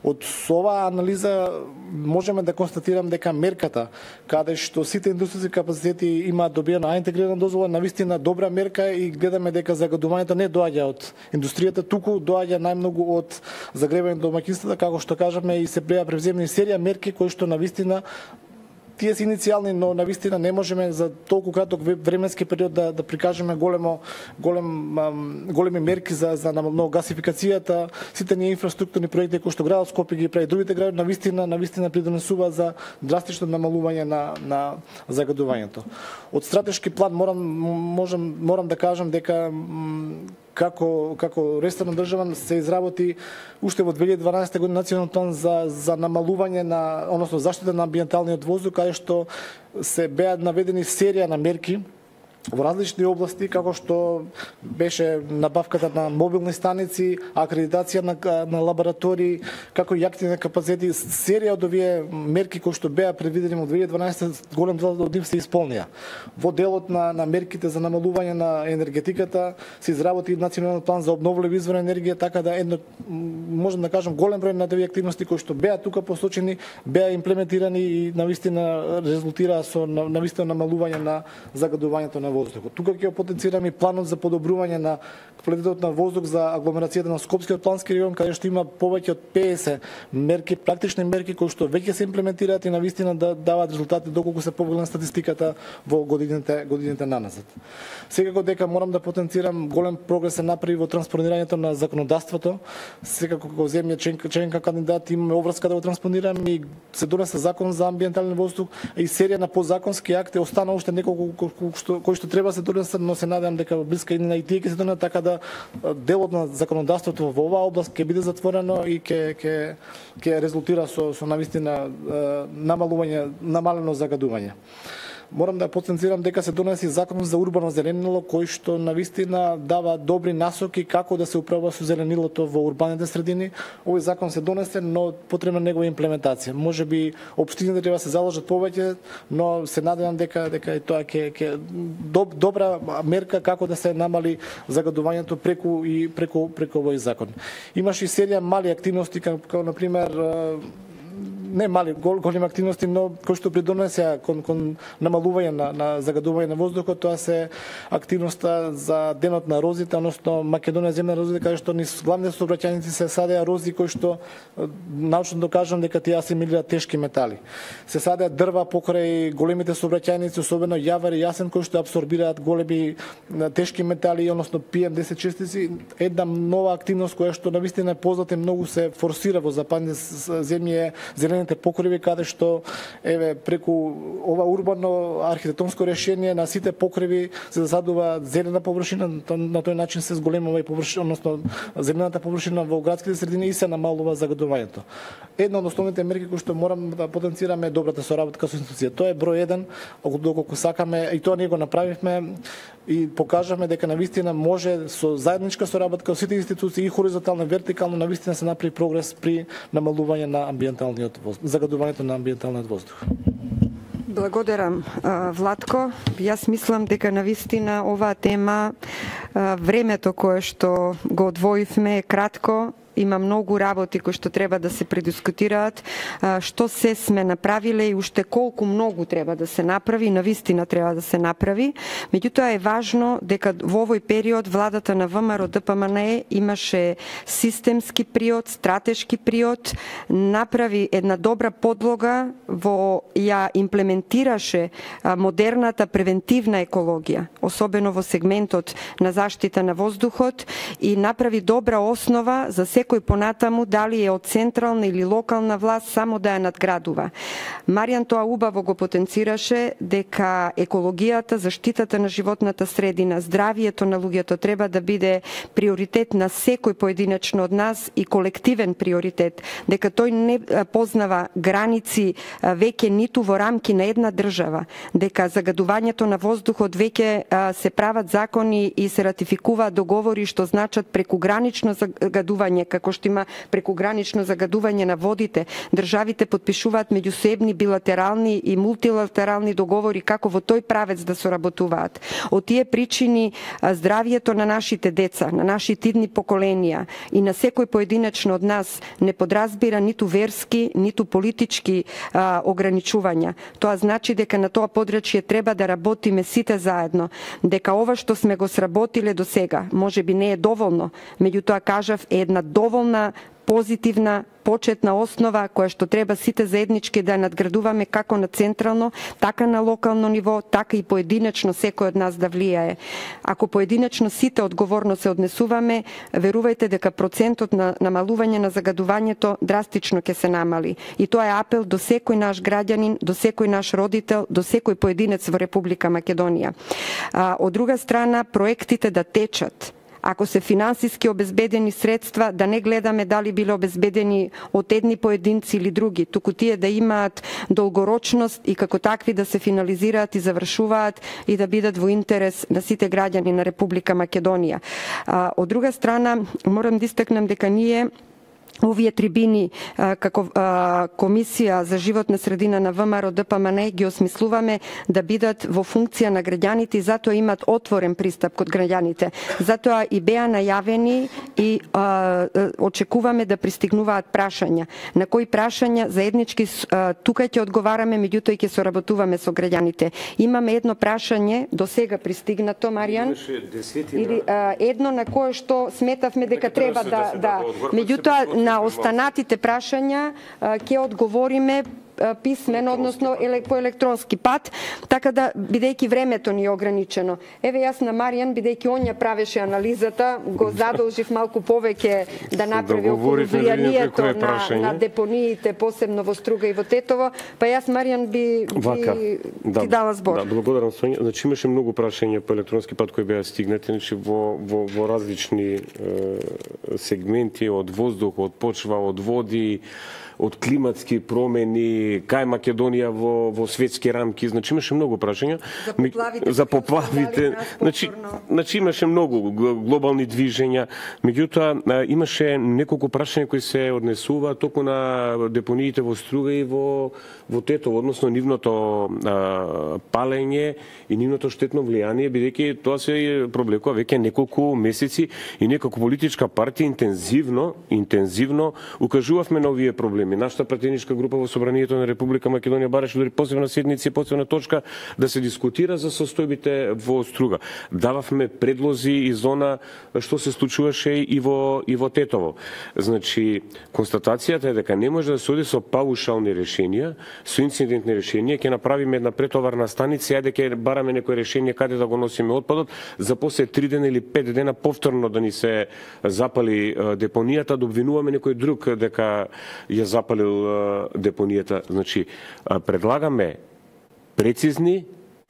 S4: Од оваа анализа можеме да констатирам дека мерката каде што сите индустријски капацитети имаат добиена интегрирана дозвола навистина добра мерка и гледаме дека загадувањето не доаѓа од индустријата, туку доаѓа најмногу од загревање домаќинствата, како што кажаме, и се беа превземени серија мерки кои што навистина тие се иницијални, но навистина не можеме за толку краток временски период да прикажеме големи мерки за гасификацијата, сите ние инфраструктурни проекти кои што градот Скопје ги прави, другите градови навистина придонесува за драстично намалување на загадувањето. Од стратешки план морам да кажам дека како ресорна држава се изработи уште во 2012 година национален план за намалување односно заштита на амбиенталниот воздух, каде што се беа наведени серија на мерки во различни области, како што беше набавката на мобилни станици, акредитација на лаборатории, како и активни капацитети, серија од овие мерки кои што беа предвидени во 2012, голем дел од нив се исполнија. Во делот на мерките за намалување на енергетиката се изработи национален план за обновливи извори енергија, така да можам да кажам голем број на овие активности кои што беа тука посочени, беа имплементирани и навистина резултира со навистина намалување на загадувањето на воздухот. Тука ќе потенцираме и планот за подобрување на квалитетот на воздух за агломерацијата на Скопскиот плански регион, каде што има повеќе од 50 мерки, практични мерки кои што веќе се имплементираат и навистина да даваат резултати доколку се погледна статистиката во годините наназад. Секако дека морам да потенцирам голем прогрес се направи во транспонирањето на законодавството. Секако како земја членка кандидат имаме обврска да го транспонираме и се донесе закон за амбиентален воздух и серија на подзаконски акти, остана уште неколку кои што треба се донесат, но се надевам дека во блиска иднина и тие ќе се донесат, така да делот на законодавството во оваа област ќе биде затворено и ќе резултира со навистина намалено загадување. Морам да потенцирам дека се донеси закон за урбано зеленило кој што навистина дава добри насоки како да се управува со зеленилото во урбаните средини. Овој закон се донесе, но потребна негова имплементација. Можеби општините треба да се заложат повеќе, но се надевам дека и тоа ќе добра мерка како да се намали загадувањето преку овој закон. Имаше и серија мали активности како на пример не мали, големи активности, но кои што придонесеа кон намалување на загадување на воздухот, тоа се активноста за денот на розите, односно Македонија земја на розите, каде што низ главните сообраќајници се садеа рози кои што научно докажам дека тие асимилираат тешки метали. Се садеа дрва покрај големите сообраќајници, особено јавор и јасен, кои што абсорбираат големи тешки метали, односно PM10 частици. Една нова активност која што навистина е позната и многу се форсира во западните земји, зелените покриви, каде што преку ова урбано архитектонско решение на сите покриви се засадува зелена површина, на тој начин се зголемува и површина, односно зелената површина во градските средини и се намалува загадувањето. Една од основните мерки кои што морам да потенцираме е добрата соработка со институција. Тоа е број 1, доколку сакаме, и тоа ние го направивме и покажавме дека навистина може со заедничка соработка со сите институции и хоризонтално и вертикално навистина се направи прогрес при намалување на амбиенталниот воздух, загадувањето на амбиенталниот воздух.
S1: Благодарам, Владко. Јас мислам дека навистина оваа тема времето кое што го одвоивме е кратко има многу работи кои што треба да се предискутираат, што се сме направиле и уште колку многу треба да се направи, навистина треба да се направи. Меѓутоа е важно дека во овој период владата на ВМРО ДПМНЕ имаше системски приод, стратешки приод, направи една добра подлога, ја имплементираше модерната превентивна екологија, особено во сегментот на заштита на воздухот, и направи добра основа за секој понатаму, дали е од централна или локална власт, само да ја надградува. Маријан тоа убаво го потенцираше дека екологијата, заштитата на животната средина, здравието на луѓето треба да биде приоритет на секој поединечно од нас и колективен приоритет, дека тој не познава граници веќе ниту во рамки на една држава, дека загадувањето на воздухот веќе се прават закони и се ратификуваат договори што значат прекугранично загадување, како што има прекугранично загадување на водите. Државите подпишуваат меѓусебни билатерални и мултилатерални договори како во тој правец да соработуваат. Од тие причини здравието на нашите деца, на нашите идни поколенија и на секој поединечно од нас не подразбира ниту верски, ниту политички ограничувања. Тоа значи дека на тоа подрачје треба да работиме сите заедно, дека ова што сме го сработиле до сега, можеби не е доволно, меѓутоа кажав е една доволна позитивна почетна основа која што треба сите заеднички да надградуваме како на централно, така на локално ниво, така и поединечно секој од нас да влијае. Ако поединечно сите одговорно се однесуваме, верувајте дека процентот на намалување на загадувањето драстично ќе се намали. И тоа е апел до секој наш граѓанин, до секој наш родител, до секој поединец во Република Македонија. Од друга страна, проектите да течат. Ако се финансиски обезбедени средства, да не гледаме дали биле обезбедени од едни поединци или други, туку тие да имаат долгорочност и како такви да се финализираат и завршуваат и да бидат во интерес на сите граѓани на Република Македонија. Од друга страна, морам да истакнам дека ние овие трибини како Комисија за животна средина на ВМРО ДПМНЕ ги осмислуваме да бидат во функција на граѓаните и затоа имат отворен пристап код граѓаните. Затоа и беа најавени и очекуваме да пристигнуваат прашања. На кои прашања заеднички тука ќе одговараме, меѓутоа ќе соработуваме со граѓаните. Имаме едно прашање до сега пристигнато, Маријан, или едно на кое што сметавме дека треба да меѓутоа на останатите прашања ќе одговориме писмено, односно по електронски пат, така да, бидејќи времето ни е ограничено. Еве јас на Маријан, бидејќи он ја правеше анализата, го задолжив малку повеќе да направи околу влијанието на депониите, посебно во Струга и во Тетово, па јас, Маријан, би ти дала збор.
S2: Да, благодарам, Сонја. Значи имаше многу прашања по електронски пат кои беа стигнати, значи во различни сегменти, од воздух, од почва, од води, од климатски промени, кај Македонија во светски рамки, значи имаше многу прашања. За поплавите, значи имаше многу глобални движења, меѓутоа имаше неколку прашања кои се однесува току на депониите во Струга и во Тетово, односно нивното палење и нивното штетно влијание, бидејќи тоа се проблекува веќе неколку месеци и неколку политичка партија интензивно укажувавме на овие проблеми. Нашата пратеничка група во Собранието на Република Македонија бараше дури посебна седница и посебна точка да се дискутира за состојбите во Струга. Дававме предлози и зона што се случуваше и во Тетово. Значи, констатацијата е дека не може да се оди со паушални решенија, со инцидентни решенија, ќе направиме една претоварна станица, јаде ќе бараме некој решение каде да го носиме отпадот, за после 3 дена или 5 дена повторно да ни се запали депонијата, да обвинуваме некој друг дека ја запалил депонијата. Значи, предлагаме прецизни,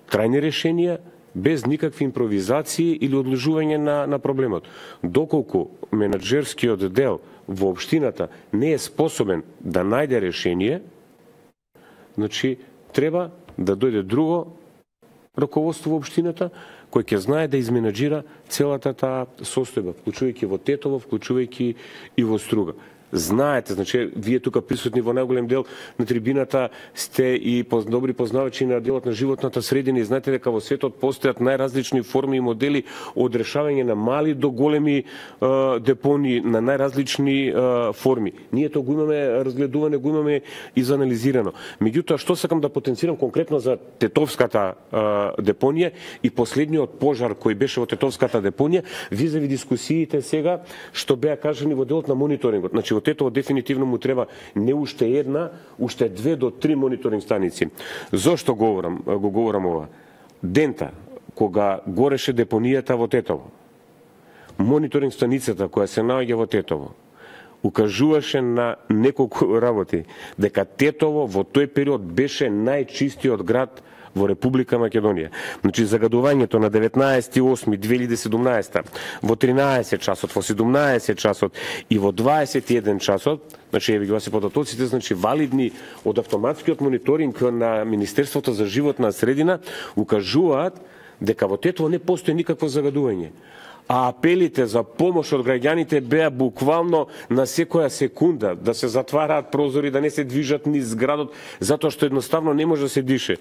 S2: трајни решенија, без никакви импровизации или одложување на проблемот. Доколку менаџерскиот дел во општината не е способен да најде решение, значи, треба да дојде друго раководство во општината, кој ќе знае да изменаџира целата таа состојба, вклучувајќи во Тетово, вклучувајќи и во Струга. знаете, значи вие тука присутни во најголем дел на трибината сте и добри познавачи на делот на животната средина и знаете дека во светот постојат најразлични форми и модели од решавање на мали до големи депонии на најразлични форми. Ние тоа го имаме разгледуване, го имаме изанализирано. Меѓутоа, што сакам да потенцирам конкретно за Тетовската депонија и последниот пожар кој беше во Тетовската депонија, визави дискусиите сега што беа кажани во делот на мониторингот. Значи во Тетово дефинитивно му треба не уште една, уште 2 до 3 мониторинг станици. Зошто го говорам ова? Дента кога гореше депонијата во Тетово, мониторинг станицата која се наоѓа во Тетово укажуваше на неколку работи дека Тетово во тој период беше најчистиот град во Република Македонија. Значи загадувањето на 19.8.2017 во 13 часот, во 17 часот и во 21 часот, значи еве ги се податоците, значи валидни од автоматскиот мониторинг на Министерството за животна средина укажуваат дека во Тетово не постои никакво загадување. А апелите за помош од граѓаните беа буквално на секоја секунда, да се затвараат прозори, да не се движат низ градот, затоа што едноставно не може да се дише.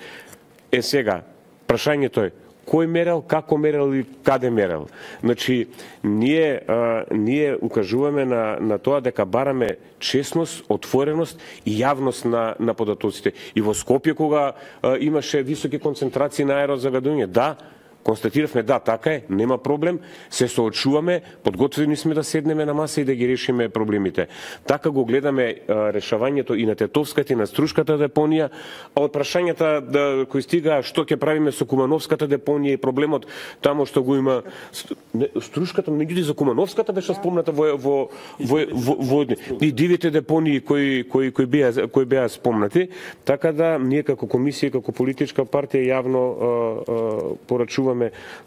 S2: Сега, прашањето е, кој мерел, како мерел и каде мерел? Значи, ние укажуваме на тоа дека бараме честност, отвореност и јавност на податоците. И во Скопје, кога имаше високи концентрации на аерозагадување, да, констатиравме, да, така е, нема проблем, се соочуваме, подготвени сме да седнеме на маса и да ги решиме проблемите. Така го гледаме решавањето и на Тетовската и на Струшката депонија, а од прашањата кои стига што ќе правиме со Кумановската депонија и проблемот таму што го има Струшката, меѓутоа за Кумановската беше спомната во и дивите депонии кои беа спомнати, така да ние како комисија, како политичка партија јавно порачуваме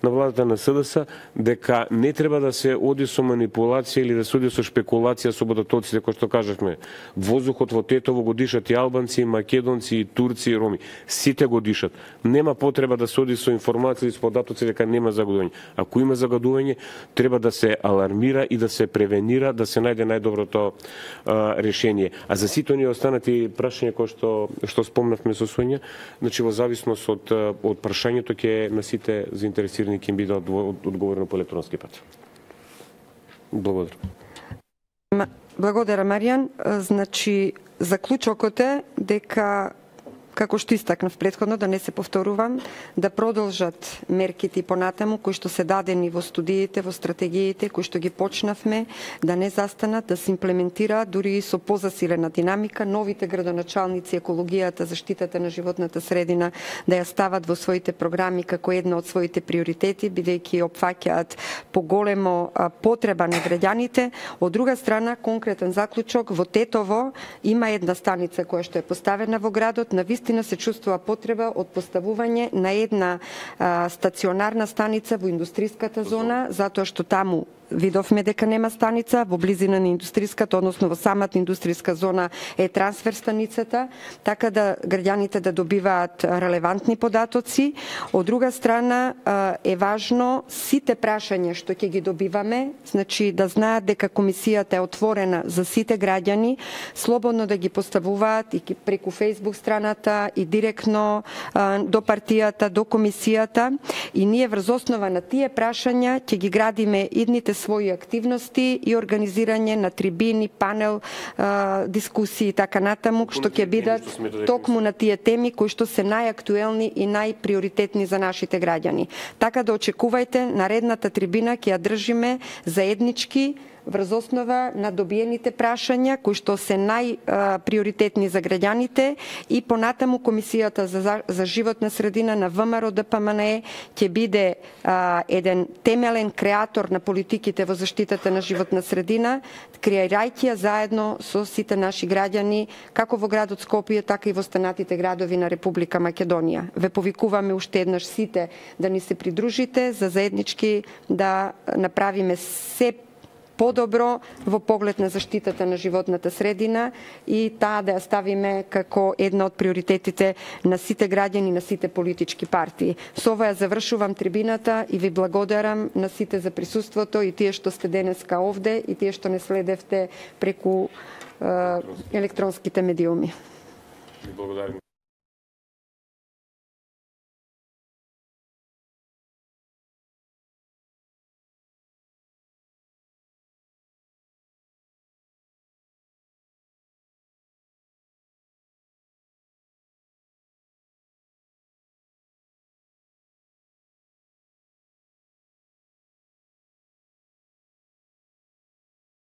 S2: на владата на СДС дека не треба да се оди со манипулација или да се оди со шпекулација со податоците, кој што кажавме. Воздухот во Тетово го дишат и албанци, и македонци, и турци, и роми. Сите го дишат. Нема потреба да се оди со информација и со податоци дека нема загадување. Ако има загадување, треба да се алармира и да се превенира, да се најде најдоброто решение. А за сите оние останати прашања кои што спомнавме со Сонја, значи во зависност од прашањето ќе на сите заинтересирани ќе им биде одговорено по електронски пат. Благодарам.
S1: Благодарам, Маријан. Значи, заклучокот е дека, како што истакнав претходно, да не се повторувам, да продолжат мерките и понатаму кои што се дадени во студиите, во стратегиите, кои што ги почнавме, да не застанат, да се имплементираат дури и со позасилена динамика, новите градоначалници, екологијата, заштитата на животната средина, да ја стават во своите програми како една од своите приоритети, бидејќи опфаќаат поголемо потреба на граѓаните. Од друга страна, конкретен заклучок, во Тетово има една станица која што е поставена во градот, на вистина се чувствува потреба од поставување на една стационарна станица во индустријската зона, затоа што таму видовме дека нема станица, во близина на индустријската, односно во самата индустријска зона е трансфер станицата, така да граѓаните да добиваат релевантни податоци. Од друга страна е важно сите прашања што ќе ги добиваме, значи да знаат дека комисијата е отворена за сите граѓани, слободно да ги поставуваат и преку Facebook страната и директно до партијата, до комисијата, и ние врз основа на тие прашања ќе ги градиме идните своји активности и организирање на трибини, панел, дискусии и така натаму, што ќе бидат токму на тие теми кои што се најактуелни и најприоритетни за нашите граѓани. Така да очекувајте, наредната трибина ќе ја држиме заеднички врз основа на добиените прашања кои што се најприоритетни за граѓаните, и понатаму Комисијата за животна средина на ВМРО ДПМНЕ ќе биде еден темелен креатор на политиките во заштитата на животна средина, креирајќи ја заедно со сите наши граѓани, како во градот Скопје, така и во останатите градови на Република Македонија. Ве повикуваме уште еднаш сите да ни се придружите за заеднички да направиме се подобро во поглед на заштитата на животната средина и таа да ја ставиме како една од приоритетите на сите граѓани, на сите политички партии. Со ова ја завршувам трибината и ви благодарам на сите за присуството и тие што сте денеска овде и тие што не следевте преку електронските медиуми.
S2: Благодарим.